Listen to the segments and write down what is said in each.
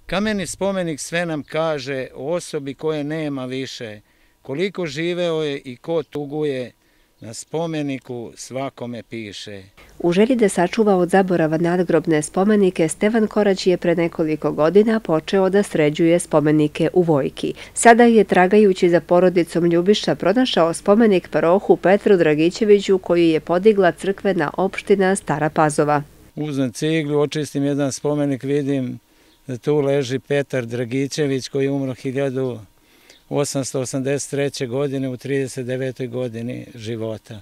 Kameni spomenik sve nam kaže o osobi koje nema više, koliko živeo je i ko tuguje, na spomeniku svakome piše. U želji da sačuva od zaborava nadgrobne spomenike, Stevan Korać je pre nekoliko godina počeo da sređuje spomenike u Vojki. Sada je, tragajući za porodicom Ljubiša, pronašao spomenik parohu Petru Dragićeviću koji je podigla crkvena opština Stara Pazova. Uzmem ciglu, očistim jedan spomenik, vidim da tu leži Petar Dragićević koji je umro 1883. godine u 39. godini života.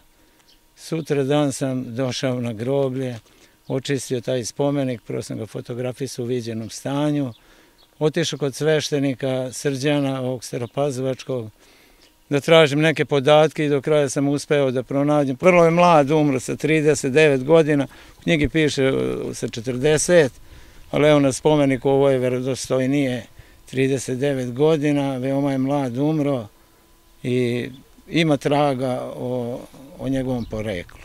Sutra dan sam došao na groblje, očistio taj spomenik, prvo sam ga fotografisao u viđenom stanju, otišao kod sveštenika Srđana, ovog staropazovačkog, da tražim neke podatke i do kraja sam uspeo da pronađem. Vrlo je mlad, umro sa 39 godina, u knjigi piše sa 40, ali evo na spomeniku ovo je verodostojnije 39 godina, veoma je mlad, umro i ima traga o njegovom poreklu.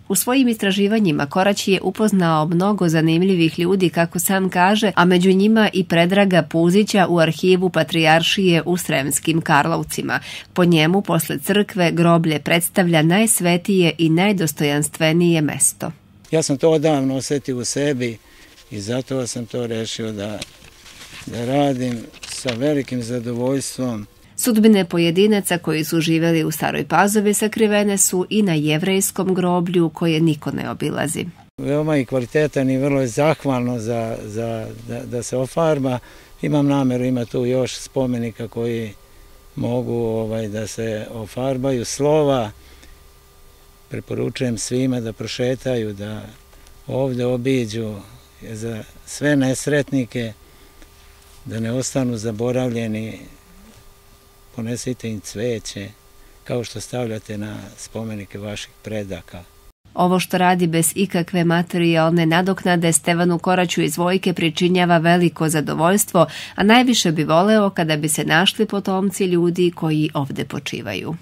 U svojim istraživanjima Korać je upoznao mnogo zanimljivih ljudi, kako sam kaže, a među njima i Predraga Puzića u arhivu Patrijaršije u Sremskim Karlovcima. Po njemu, posle crkve, groblje predstavlja najsvetije i najdostojanstvenije mesto. Ja sam to odavno osetio u sebi i zato sam to rešio da radim sa velikim zadovoljstvom. Sudbine pojedinaca koji su živeli u Staroj Pazovi sakrivene su i na jevrejskom groblju koje niko ne obilazi. Veoma je kvalitetan i vrlo je zahvalno da se ofarba. Imam nameru, ima tu još spomenika koji mogu da se ofarbaju. Slova preporučujem svima da prošetaju, da ovde obiđu za sve nesretnike, da ne ostanu zaboravljeni. Ponesite im cveće, kao što stavljate na spomenike vaših predaka. Ovo što radi bez ikakve materijalne nadoknade Stevanu Koraću iz Vojke pričinjava veliko zadovoljstvo, a najviše bi voleo kada bi se našli potomci ljudi koji ovde počivaju.